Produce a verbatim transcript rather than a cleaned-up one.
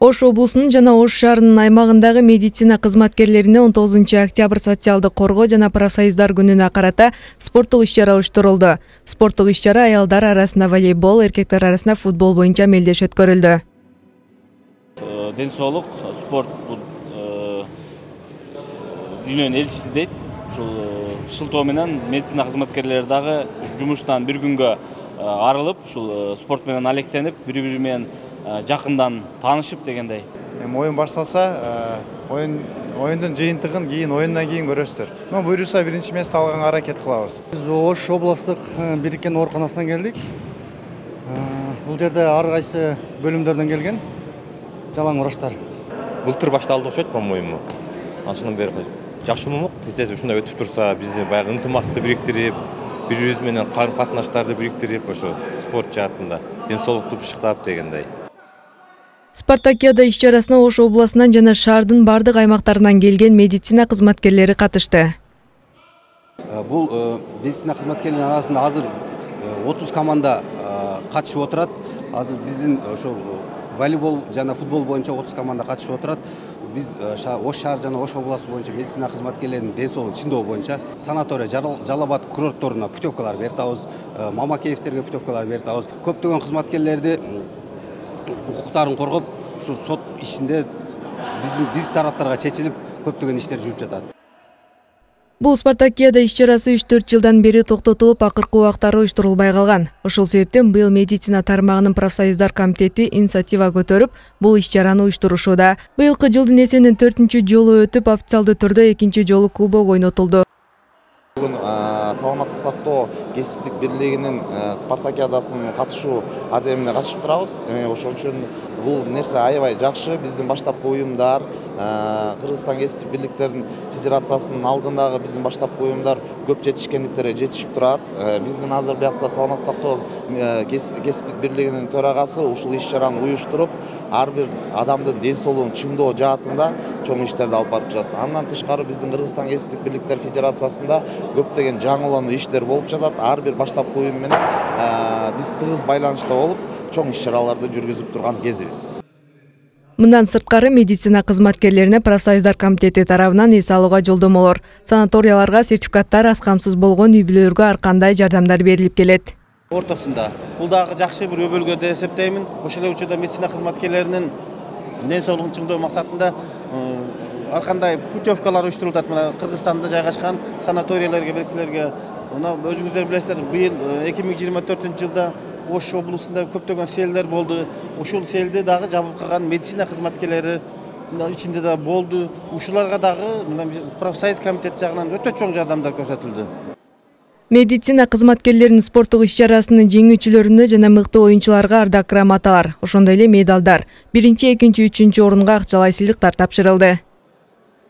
Ош облусунун жана Ош шаарынын аймагындагы медицина кызматкерлерине он тогузунчу октябрь социалдык коргоо жана профсоюздар күнүнө карата спорттук иш-чара уюштурулду. Спорттук иш-чара аялдар арасында волейбол, эркектер арасында футбол боюнча мелдеш өткөрүлдү. Ден соолук, спорт бул дүйнөнүн элчиси дейт. Ушул шылтоо менен медицина кызматкерлери дагы жумуштан бир күнгө арылып, ушул спорт менен алектенип, бири-бири менен жакындан таанышып дегендей. Эми оюн башталса, оюн оюндун жыйынтыгын кийин оюндан кийин көрөсүздөр. Но буюрса биринчи месте алганга аракет кылабыз. Биз Ош областык бириккен ооруканасынан келдик. Бул жерде ар кайсы бөлүмдөрдөн келген жалаң врачтар. Былтыр башталды окшойт, по-моему. Анчынан бери жакшы болмок. Тез ушундай өтүп турса, биздин баягы ынтымакты бириктирип, бири-бирибиз менен карым-катнаштарды бириктирип, ошо спорт жаатында ден соолукту бышыктап дегендей. Спартакиада иш-чарасына Ош областынан жана шаардын бардык аймактарынан келген медицина кызматкерлери катышты. Бул медицина кызматкерлеринин арасында азыр отуз команда катышып отурат. Азыр биздин ошо волейбол жана футбол боюнча отуз команда катышып отурат. Биз Ош шаар жана Ош областы боюнча медицина кызматкерлеринин ден соолугун чыңдоо боюнча санатория, Жалал Абад курортторуна путевкалар берип атабыз, Мамакеевтерге путевкалар берип атабыз. Көптөгөн кызматкерлерди укуктарын коргоп, ушу сот ишинде биздин биз тараптарга чечилип, көптөгөн иштер жүрүп жатат. Бул Спартакиада иш-чарасы үч төрт жылдан бери токтотулуп, акыркы убактары уюштурулбай калган. Ошол себептен быйыл медицина тармагынын профсоюздар комитети инициатива көтөрүп, бул иш-чараны уюштурушууда. Быйылкы жылдын эсебинен төртүнчү жолу өтүп, официалдуу түрдө экинчи жолу кубок ойнотулду. Бүгүн саламаттык сактоо кесиптик бирлигинин спартакиадасына катышуу аз эмне катышып турабыз. Ошон үчүн бул нерсе аябай жакшы. Биздин баштапкы уюмдар, Кыргызстан кесиптик бирликтердин федерациясынын алдындагы биздин баштапкы уюмдар көп жетишкендиктерге жетишип турат. Биздин азыр биякта саламаттык сактоо кесиптик бирлигинин төрагасы ушул иш-чараны уюштуруп, ар бир адамдын ден соолугун чыңдоо жаатында чоң иштерди алып барып жатат. Андан тышкары биздин Кыргызстан кесиптик бирликтер федерациясында көптөгөн жаңылануу иштер болуп жатат. Ар бир баштапкы уюм менен биз тыгыз байланышта болуп, чоң иш-чараларды жүргүзүп турган кезибиз. Мындан сырткары медицина кызматкерлерине профсоюздар комитети тарабынан эс алууга жолдомолор, санаторияларга сертификаттар, аз камсыз болгон үй-бүлөлөргө ар кандай жардамдар берилип келет. Ортосунда бул дагы жакшы бир өбөлгө деп эсептеймин. Ошол эле учурда медицина кызматкерлеринин ден соолугун чыңдоо максатында ар кандай путевкалар уюштурулат. Мына Кыргызстанда жайгашкан санаторияларга, беркилерге. Мына өзүңүздөр билесиздер, быйыл эки миң жыйырма төртүнчү жылда Ош облусунда көптөгөн селдер болду. Ушул селди дагы жабып калган медицина кызматкерлери ичинде да болду. Ушуларга дагы профсоюз комитет жагынан өтө чоң жардамдар көрсөтүлдү. Медицина кызматкерлеринин спорттук иш-чарасынын жеңүүчүлөрүнө жана мыкты оюнчуларга ардак грамоталар, ошондой эле медалдар, биринчи, экинчи, үчүнчү орунга акчалай сыйлыктар тапшырылды.